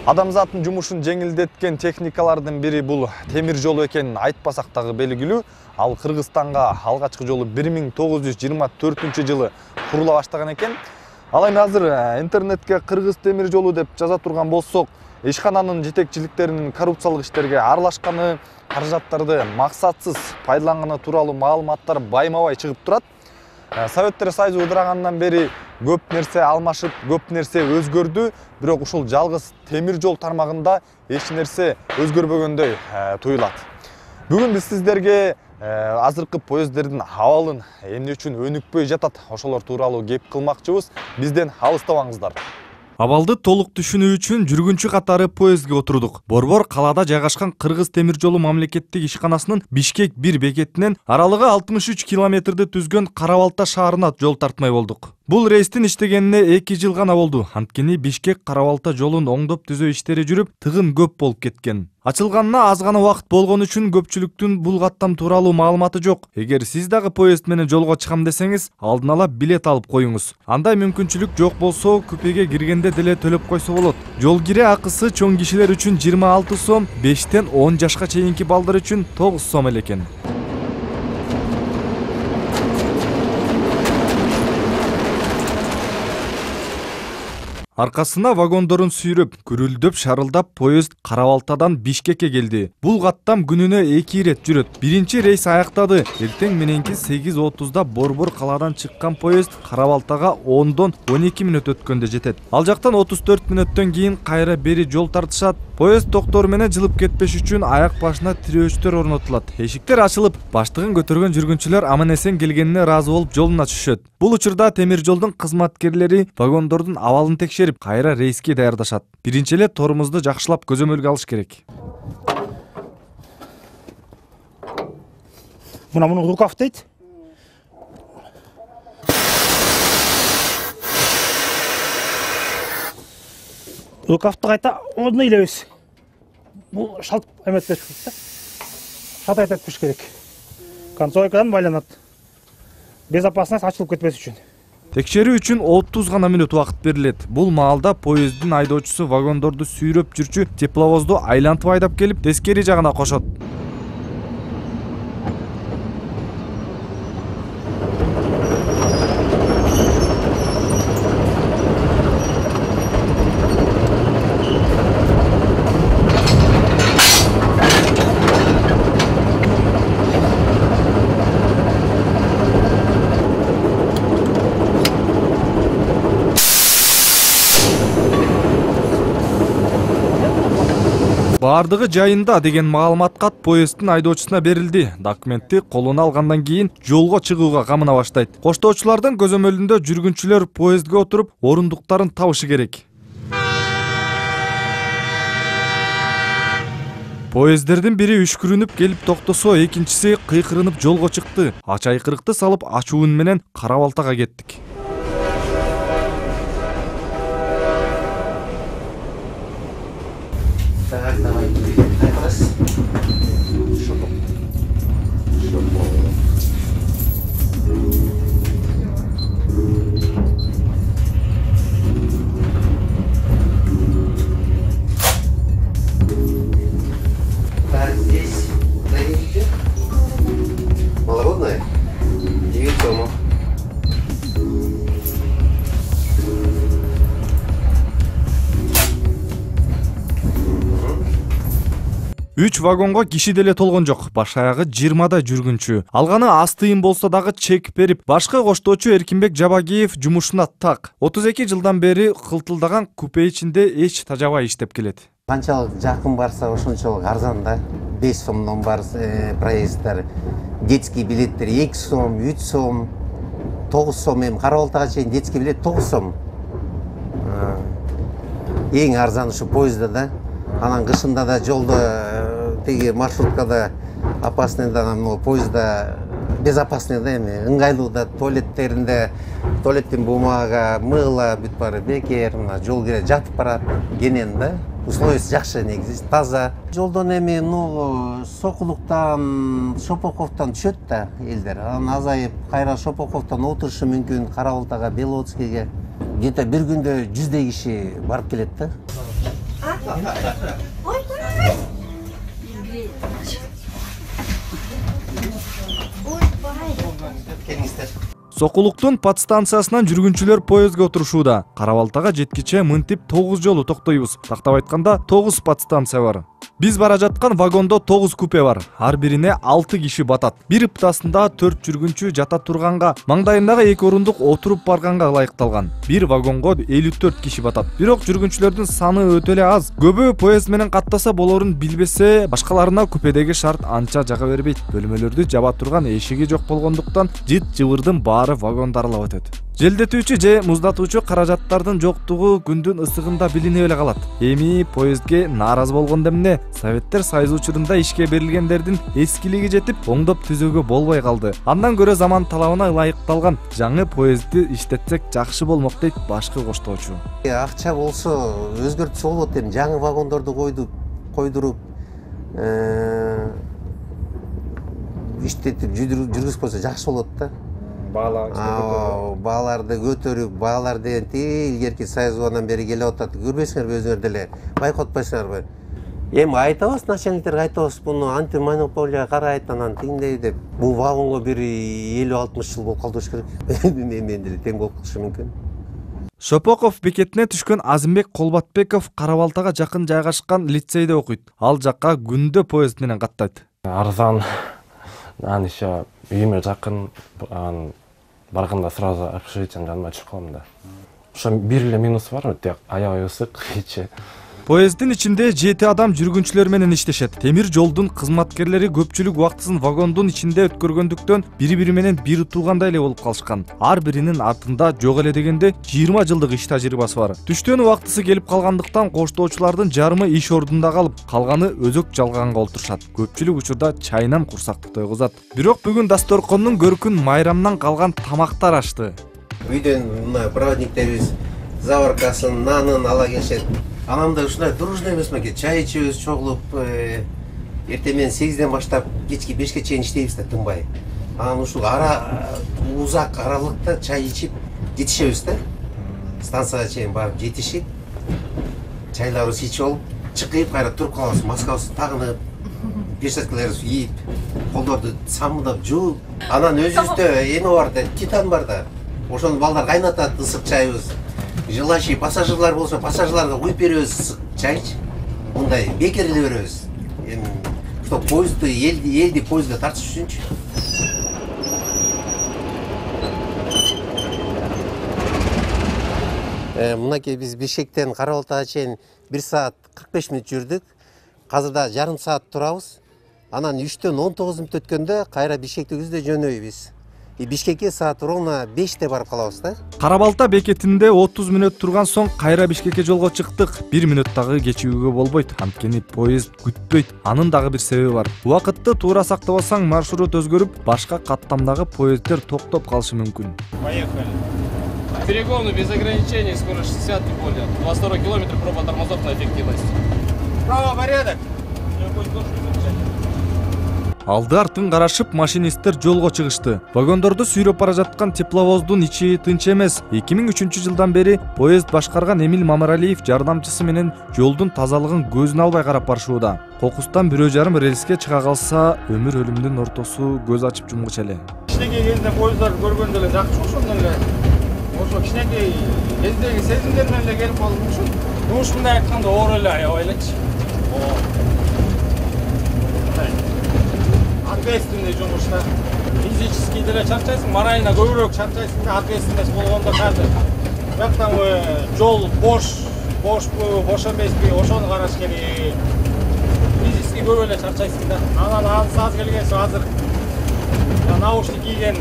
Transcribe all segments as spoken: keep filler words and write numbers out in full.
Адамзаттын жумушун жеңилдеткен техникалардын бири бул темир жол экенин айтпасак дагы белгилүү. Ал Кыргызстанга алгачкы жолу бир миң тогуз жүз жыйырма төртүнчү жылы курула баштаган экен. Ал эми азыр интернетке Кыргыз темир жолу деп жаза турган болсок, ишкананын жетекчиликтеринин коррупциялык иштерге аралашканы, каражаттарды максатсыз пайдаланганы тууралуу маалыматтар байма-бай чыгып турат. Советтер Союзу ыдырагандан бери көп нерсе алмашып, көп нерсе өзгөрдү, бирок ушул жалгыз темир жол тармагында эч нерсе өзгөрбөгөндөй туюлат. Бүгүн биз сиздерге азыркы поезддердин абалын эмне үчүн өнүкпөй жатат, ошолор тууралуу кеп кылмакчыбыз. Бизден алыстабаңыздар. Абалды толук түшүнүү үчүн жүргүнчү катары поездге отурдук. Борбор калаада жайгашкан Кыргыз темир жолу мамлекеттик ишканасынын Бишкек бир бекетинен аралыгы алтымыш үч километрди түзгөн Кара-Балта шаарына жол тартмай болдук. Бул рейстин иштегенине эки жыл гана болду. Анткени Бишкек Кара-Балта жолун оңдоп түзөө иштери жүрүп, тыгын көп болуп кеткен. Ачылганына аз гана убакыт болгон үчүн көпчүлүктүн бул каттам тууралуу маалыматы жок. Эгер сиз дагы поезд менен жолго чыгам десеңиз, алдын ала билет алып коюңуз. Андай мүмкүнчүлүк жок болсо, купеге киргенде деле төлөп койсо болот. Жол кире акысы чоң кишилер үчүн жыйырма алты сом, бештен он жашка чейинки балдар үчүн тогуз сом эле экен. Аркасына вагондорун сүйрөп, күрүлдөп шарылдап поезд Кара-Балтадан Бишкекке келди. Бул каттам күнүнө эки ирет жүрөт. Биринчи рейс аяктады. Эртең мененки сегиз отузда Борбор калаадан чыккан поезд Кара-Балтага ондон он эки мүнөт өткөндө жетет. Ал жактан отуз төрт мүнөттөн кийин кайра бери жол тартышат. Поезд токтору менен жылып кетпеш үчүн аяк башына тирөөчтөр орнотулат. Эшиктер ачылып, баштыгын көтөргөн жүргүнчүлөр аман-эсен келгенине ыраазы болуп жолуна түшөт. Бул учурда темир жолдун кызматкерлери вагондордун абалын текшерип, кайра рейске даярдашат. Биринчи эле торумузду жакшылап көзөмөлгө алыш керек. Мына муну рукав дейт. Рукавты кайта ордуна илебиз. Бул шалт эметпеш керек. Шалт айтып керек. Концойкадан байланат. Безопасность ачылып кетпес үчүн. Текшерүү үчүн отуз гана мүнөт убакыт берилет. Бул маалда поезддин айдоочусу вагондорду сүйрөп жүрчү тепловозду айлантып айдап келип, тескери жагына кошот. Бардыгы жайында деген маалымат кат поезддин айдоочусуна берилди. Документти колуна алгандан кийин жолго чыгууга камына баштайт. Коштоочулардын көзөмөлүндө жүргүнчүлөр поездге отуруп, орундуктарын табышы керек. Поезддердин бири үшкүрүнүп келип токтосо, экинчиси кыйкырынып жолго чыкты. Ач айкырыкты салып, ачуу үн менен Кара-Балтага кеттик. Так, давай, раз. Шопок. Шопок. Так, здесь доверите. Малородная? девять сомов. үч вагонго киши деле толгон жок. Баш аягы жыйырмадай жүргүнчү. Алганы аз тыйын болсо дагы чек берип, башкы коштоочу Эркинбек Жабагиев жумушуна так. отуз эки жылдан бери кылтылдаган купе ичинде эч тажабай иштеп келет. Канчалык жакын барса ошончолук арзан да. беш сомдон бар проезддер, детский билеттер эки сом, үч сом, тогуз сом. Эми Кара-Балтага чейин детский билет тогуз сом. Эң арзан ушу поездда да. Анан кышында да жолдо теги маршруткада опасный да, поездда безопасный да, эми ыңгайлуу да, туалеттеринде туалеттин бумага, мыло бүт баары бекер, мына жол кире жатып барат, кенен да. Условиясы жакшы, негизи таза. Жолдон эми ну Сокулуктан, Шопоковдон түшөт да элдер. Анан азайып, кайра Шопоковдон отурушу мүмкүн, Кара-Балтага, Белоцкийге. Где-то бир күндө жүздөй киши барып келет да. Сокулуктун подстанциясынан жүргүнчүлөр поездге отурушууда. Кара-Балтага жеткиче мынтип тогуз жолу токтойбуз. Тактап айтканда тогуз подстанция бар. Биз бара жаткан вагондо тогуз купе бар. Ар бирине алты киши батат. Бир ыптасында төрт жүргүнчү жата турганга, маңдайындагы эки орундук отуруп барганга ылайыкталган. Бир вагонго элүү төрт киши батат. Бирок жүргүнчүлөрдүн саны өтө эле аз. Көбү поезд менен каттаса болорун билбесе, башкаларына купедеги шарт анча жага бербейт. Бөлмөлөрдү жаба турган эшиги жок болгондуктан жыт-жыбырдын баары вагонду аралап өтөт. Желдетүүчү же муздатуучу каражаттардын жоктугу күндүн ысыгында билинип эле калат. Эми поездге нааразы болгондо эмне? Советтер Союзу учурунда ишке берилгендердин эскилиги жетип, оңдоп түзүүгө болбой калды. Андан көрө заман талабына ылайыкталган жаңы поездди иштетсек жакшы болмок дейт башкы коштоочу. Акча болсо өзгөртүшү болот эми, жаңы вагондорду койдуп, койдуруп, иштетип жүргүзүп койсо жакшы болот да. Бааларды көтөрүп, баалар деген илгерки Союздан бери келип атат. Көрбөйсүңөрбү өзүңөр деле? Байкот атпайсыңарбы? Эми айтабыз, начальниктер айтабыз, буну антимонополия карайт, анан тиңдей деп. Бул вагонго бир элүү алтымыш жыл болуп калды болуш керек. Мен деле тең болуп калышы мүмкүн. Шопоков бекетине түшкөн Азимбек Колбатбеков Кара-Балтага жакын жайгашкан лицейде окуйт. Ал жакка күндө поезд менен каттайт. Арзан, анан еще үйүмө жакын, барганда сразу общежитиянын жанына түшүп калам да. Ошо бир эле минус бар, өтө аябай ысык ичи. Поездин ичинде жети адам жүргүнчүлөр менен иштешет. Темир жолдун кызматкерлери көпчүлүк убактысын вагондун ичинде өткөргөндүктөн бири-бири менен бир туугандай эле болуп калышкан. Ар биринин артында жок эле дегенде жыйырма жылдык иш тажрыйбасы бар. Түштөн убактысы келип калгандыктан коштоочулардын жарымы иш ордунда калып, калганы өзөк жалганга олтурушат. Көпчүлүк учурда чайынан курсакты тойгузат. Бирок бүгүн дасторкондун көркүн майрамдан калган тамактар ачты. Үйдөн мына проводниктерибиз заваркасын, нанын ала келишет. Анамда ушундай дружный эмес мекен, чай ичебиз чогулуп, эртең менен сегизден баштап кечки бешке чейин иштейбиз да тынбай. Анан ушул ара узак аралыкта чай ичип жетишебиз да. Станцияга чейин барып жетишип, чайларыбызды ичип алып, чыкып кайра туруп калабыз, маскабызды тагынып, перчаткаларыбызды кийип, колдорду самындап жууп, анан өзүбүздө эме бар да, титан бар да. Ошону балдар кайнатат, ысык чайыбыз. Желающий пассажирлар болсо, пассажирларга куюп беребиз ысык чайчы. Мындай бекер эле беребиз. Эми чтоб поездди, элди, элди поездге тартыш үчүнчү. Мынакей биз Бишкектен Кара-Балтага чейин бир саат кырк беш мүнөт жүрдүк. Азырда жарым саат турабыз. Анан үчтөн он тогуз мүнөт өткөндө кайра Бишкекти күздө жөнөйбүз. Бишкекке саат ровно беште барып калабыз да. Кара-Балта бекетинде отуз мүнөт турган соң кайра Бишкекке жолго чыктык. бир мүнөт дагы кечигүүгө болбойт. Анткени поезд күтпөйт. Анын дагы бир себеби бар. Убакытты туура сактабасаң, маршрут өзгөрүп, башка каттамдагы поезддер токтоп калышы мүмкүн. Поехали. Перегоны без ограничений, скорость шестьдесят и более. двадцать второй километр, проба тормозов на эффективность. Право, порядок. Алды артын карашып, машинисттер жолго чыгышты. Вагондорду сүйрөп бара жаткан тепловоздун ичи тынч эмес. эки миң үчүнчү жылдан бери поезд башкарган Эмил Мамаралиев жардамчысы менен жолдун тазалыгын көзүнө албай карап барышууда. Кокустан бирөө жарым рельске чыга калса, өмүр өлүмдүн ортосу көз ачып жумгучу эле. Кичинекей кезинде поездар көргөндө эле жакшы ошондон эле. Ошо кичинекей кездеги сезимдер менен эле келип калдым ушул. Ушундай айтканда оор эле аябай элечи. Ответственный жумушта. Физически деле чарчайсың, морально көбүрөөк чарчайсың да, ответственность болгондо казыр. Бияктан жол бош, бошпу, бош эмеспи, ошону караш керек. Физически көп эле чарчайсың да. Анан аз келген соң азыр наушник кийген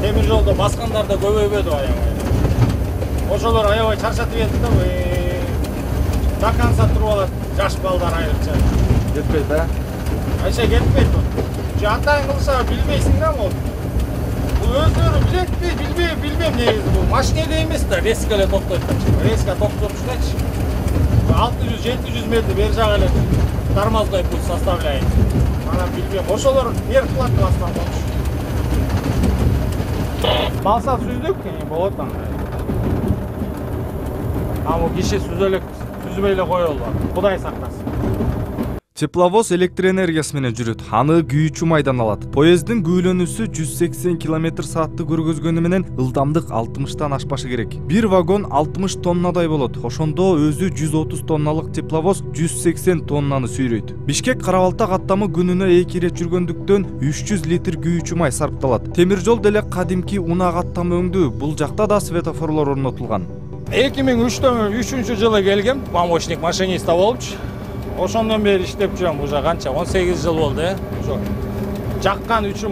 темир жолдо баскандар да көбөйбөдү аябай. Ошолор аябай чарчатып кетти да. До конца туруп алат жаш балдар айрыкча. Жетпейт да? Айша кетпейт. Атайын кылса билбейсиң да бул. Бул өздөрү билетпи, билбей, билбейм негизи бул. Машинеде эмес да, резко эле токтойт. Резко токтотуштачы. алты жүз жети жүз метр бер жак эле тормозной путь составляет. Анан билбейм, ошолор вверх кылат баскан болчу. Балса сүздүк болот анда. А бул киши сүзөлөк түзбөй эле коелу. Кудай сактасын. Тепловоз электр энергиясы менен жүрөт. Аны күйүүчү майдан алат. Поезддин күүлөнүүсү жүз сексен километр саатты көргөзгөнү менен ылдамдык алтымыштан ашпашы керек. Бир вагон алтымыш тоннадай болот. Ошондо өзү жүз отуз тонналык тепловоз жүз сексен тоннаны сүйрөйт. Бишкек Кара-Балта каттамы күнүнө эки ирет жүргөндүктөн үч жүз литр күйүүчү май сарпталат. Темир жол деле кадимки унаа каттамы өңдүү. Бул жакта да светофорлор орнотулган. эки миң үчүнчү жылы келгем, помощник машиниста болупчу. Ошондон бери иштеп жүрөм, уже канча он сегиз жыл болду, э. Ошо жаккан үчүн,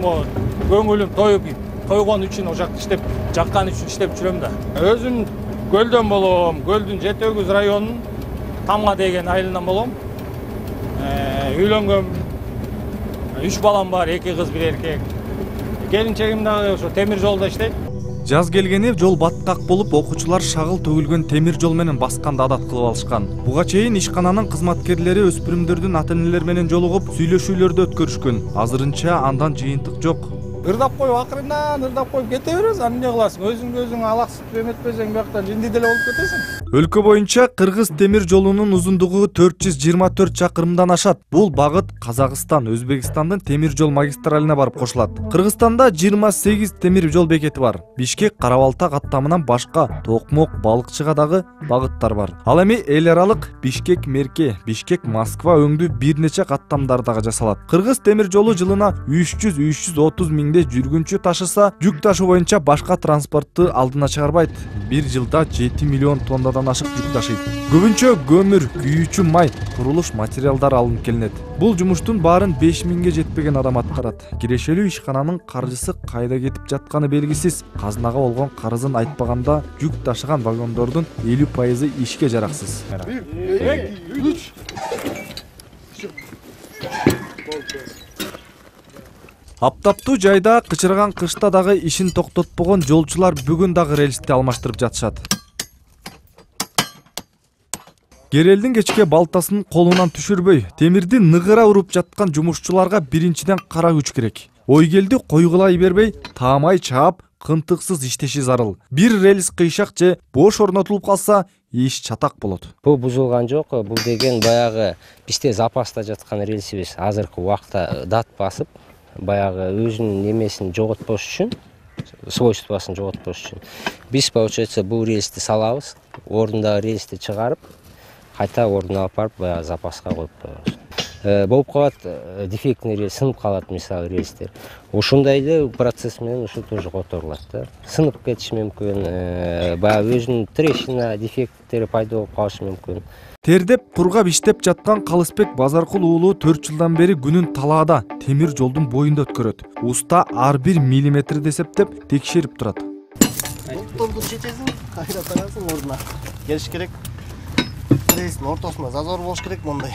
көңүлүм тоюп, тойгон үчүн ошол жакта иштеп, жаккан үчүн иштеп жүрөм да. Өзүм көлдөн болом, көлдүн Жети Өгүз районунун Тамга деген айылынан болом. Үйлөнгөм, үч балам бар, эки кыз, бир эркек. Келинчегим дагы ошо темир жолдо иштейт. Жаз келгени жол баттак болуп, окуучулар шагыл төгүлгөн темир жол менен басканды адат кылып алышкан. Буга чейин ишкананын кызматкерлери өспүрүмдөрдүн ата-энелер менен жолугуп, сүйлөшүүлөрдү өткөрүшкөн. Азырынча андан жыйынтык жок. Ырдап коюп, акырындан ырдап коюп кете беребиз. Аны эмне кыласың? Өзүңдү өзүң алаксытып эметпесең, бияктан жинди деле болуп кетесиң. Өлкө боюнча Кыргыз темир жолунун узундугу төрт жүз жыйырма төрт чакырымдан ашат. Бул багыт Казакстан, Өзбекстандын темир жол магистралине барып кошулат. Кыргызстанда жыйырма сегиз темир жол бекети бар. Бишкек Кара-Балта каттамынан башка Токмок, Балыкчыга дагы багыттар бар. Ал эми эл аралык Бишкек Мерке, Бишкек Москва өңдүү бир нече каттамдар дагы жасалат. Кыргыз темир жолу жылына үч жүз үч жүз отуз миңдей жүргүнчү ташыса, жүк ташуу боюнча башка транспортту алдына чыгарбайт. Бир жылда жети миллион тоннадан ашык жүк ташыйт. Көбүнчө көмүр, күйүүчү май, курулуш материалдары алынып келинет. Бул жумуштун баарын беш миңге жетпеген адам аткарат. Кирешелүү ишкананын каржысы кайда кетип жатканы белгисиз. Казынага болгон карызын айтпаганда, жүк ташыган вагондордун элүү пайызы ишке жараксыз. Аптаптуу жайда, кычырган кышта дагы ишин токтотпогон жолчулар бүгүн дагы рельсти алмаштырып жатышат. Керелдин кечке балтасын колунан түшүрбөй, темирди ныгыра уруп жаткан жумушчуларга биринчиден кара күч керек. Ойгелди койгулай бербей, таамай чаап, кынтыксыз иштеши зарыл. Бир рельс кыйшак же бош орнотулуп калса, иш чатак болот. Бул бузулган жок. Бул деген баягы бизде запаста жаткан рельсибиз азыркы убакта дат басып, баягы өзүнүн немесин жоготпош үчүн, свойствосын жоготпош үчүн биз получается бул рельсти салабыз, ордундагы рельсти чыгарып, кайта ордуна алып барып, баягы запаска коюп коебуз. Болуп калат, дефектный рельс, сынып калат мисалы рельстер. Ошондой эле процесс менен ушу тоже которулат да. Сынып кетиши мүмкүн, баягы өзүнүн трещина, дефекттери пайда болуп калышы мүмкүн. Тердеп, кургап иштеп жаткан Калысбек Базаркул уулу төрт жылдан бери күнүн талаада, темир жолдун боюнда өткөрөт. Уста ар бир миллиметрди эсептеп, текшерип турат. Толду чечесиң, кайра тарасың ордуна. Келиш керек. Рельстин ортосунда зазор болуш керек мондай.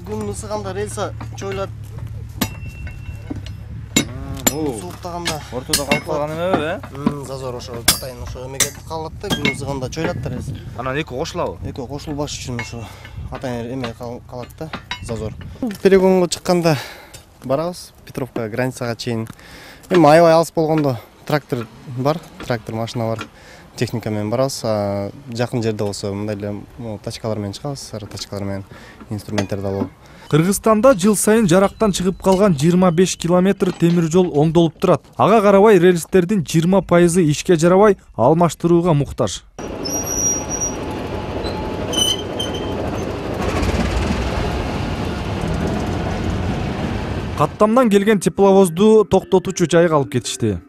Күн ысыганда рельса чойлат. Сууктаганда ортодо калып калган эмеби, э? Зазор ошо атайын ошо эмеге калат да, күн ысыганда чойлат да рельс. Анан эки кошулабы? Эки кошулбаш үчүн ошо атайын эме калат да, зазор. Перегонго чыкканда барабыз, Петровка границага чейин. Эми аябай алыс болгондо трактор бар, трактор машина бар. Техника менен барабыз. Жакын жерде болсо мындай эле тачкалар менен чыгабыз, сары тачкалар менен инструменттерди алып. Кыргызстанда жыл сайын жарактан чыгып калган жыйырма беш километр темир жол оңдолуп турат. Ага карабай рельстердин жыйырма пайызы ишке жарабай, алмаштырууга муктаж. Каттамдан келген тепловозду токтотуучу жайга алып кетишти.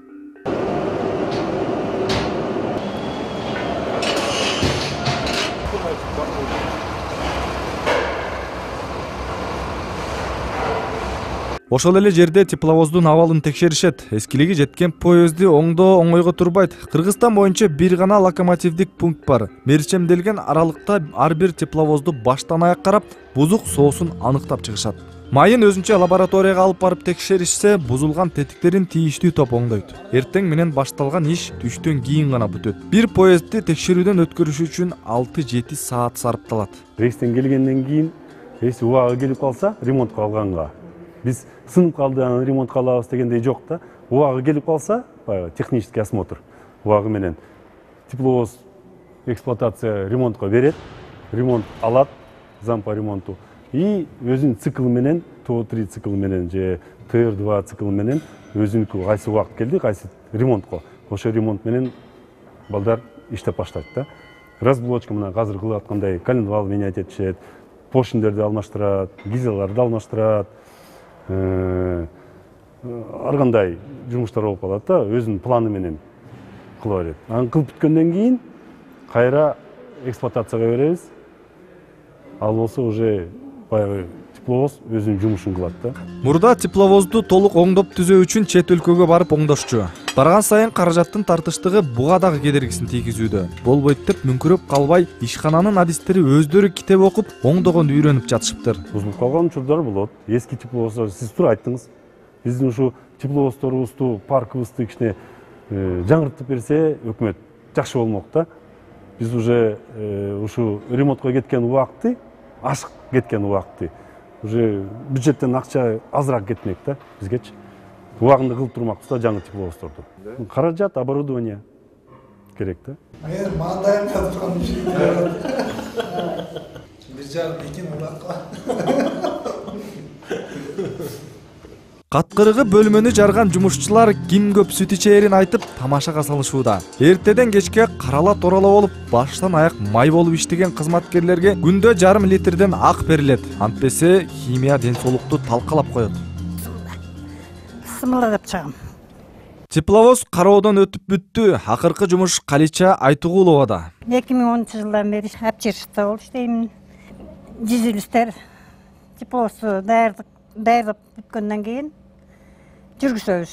Ошол эле жерде тепловоздун абалын текшеришет. Эскилиги жеткен поезди оңдоо оңойго турбайт. Кыргызстан боюнча бир гана локомотивдик пункт бар. Мерчемделген аралыкта ар бир тепловозду баштан аяк карап, бузук соосун аныктап чыгышат. Майын өзүнчө лабораторияга алып барып текшеришсе, бузулган тетиктерин тийиштүү топ оңдойт. Эртең менен башталган иш түштөн кийин гана бүтөт. Бир поездди текшерүүдөн өткөрүш үчүн алты жети саат сарпталат. Рейстен келгенден кийин, рейс убагы келип калса, ремонтко алганга биз сынып калды, анан ремонтко алабыз дегендей жок да. Убагы келип калса, баягы технический осмотр убагы менен тепловоз эксплуатация ремонтко берет. ремонт алат, зам по ремонту. И өзүнүн цикл менен, то три цикл менен же тэ эр два цикл менен өзүнүкү кайсы убакыт келди, кайсы ремонтко. Ошо ремонт менен балдар иштеп баштайт да. Разблочка мына азыр кылып аткандай коленвал менять этишет, поршендерди алмаштырат, гильзаларды алмаштырат. Ар кандай жумуштар болуп калат да, өзүнүн планы менен кыла берет. Аны кылып бүткөндөн кийин кайра эксплуатацияга беребиз. Ал болсо уже баягы тепловоз өзүнүн жумушун кылат да. Мурда тепловозду толук оңдоп түзөө үчүн чет өлкөгө барып оңдошчу. Барган сайын каражаттын тартыштыгы буга дагы кедергисин тийгизүүдө. Болбойт деп мүңкүрөп калбай, ишкананын адистери өздөрү китеп окуп, оңдогонду үйрөнүп жатышыптыр. Бузулуп калган учурлар болот. Эски тепловоздар, сиз туура айттыңыз. Биздин ушу тепловоздорубузду, паркыбызды кичине жаңыртып берсе, өкмөт жакшы болмок да. Биз уже ушу ремонтко кеткен убакытты, ашык кеткен убакытты, уже бюджеттен акча азыраак кетмек да бизгечи. Убагында кылып турмакпыз да жаңы тепловоздорду. Каражат, оборудование керек да. Мен мага даярдап аткан ишим. Бир жарым эки муракка. Каткырыгы бөлмөнү жарган жумушчулар ким көп сүт ичээрин айтып тамашага салышууда. Эртеден кечке карала торала болуп, баштан аяк май болуп иштеген кызматкерлерге күндө жарым литрден ак берилет. Антпесе химия ден соолукту талкалап коет. Сымыла деп чыгам. Тепловоз кароодон өтүп бүттү. Акыркы жумуш Калича Айтугуловада. эки миң онунчу жылдан бери апчырышта болуп иштейм. Жүзүлүштөр тепловозду даярдык даярдап бүткөндөн кийин жүргүзөбүз.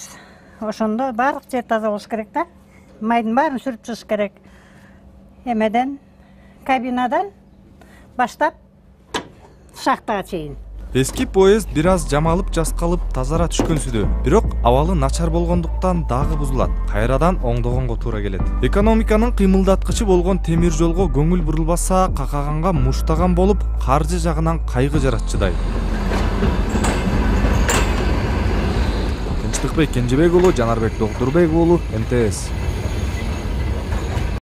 Ошондо баардык жер таза болуш керек да. Майдын баарын сүрүп чыгыш керек. Эмеден, кабинадан баштап шахтага чейин. Эски поезд бир аз жамалып жаскалып тазара түшкөнсүдө. Бирок абалы начар болгондуктан дагы бузулат. Кайрадан оңдогонго туура келет. Экономиканын кыймылдаткычы болгон темир жолго көңүл бурулбаса, какаганга муштаган болуп, каржы жагынан кайгы жаратчыдай. Тынчтыкбек Кенжебек уулу, Жанарбек Доктурбек уулу, эм тэ эс.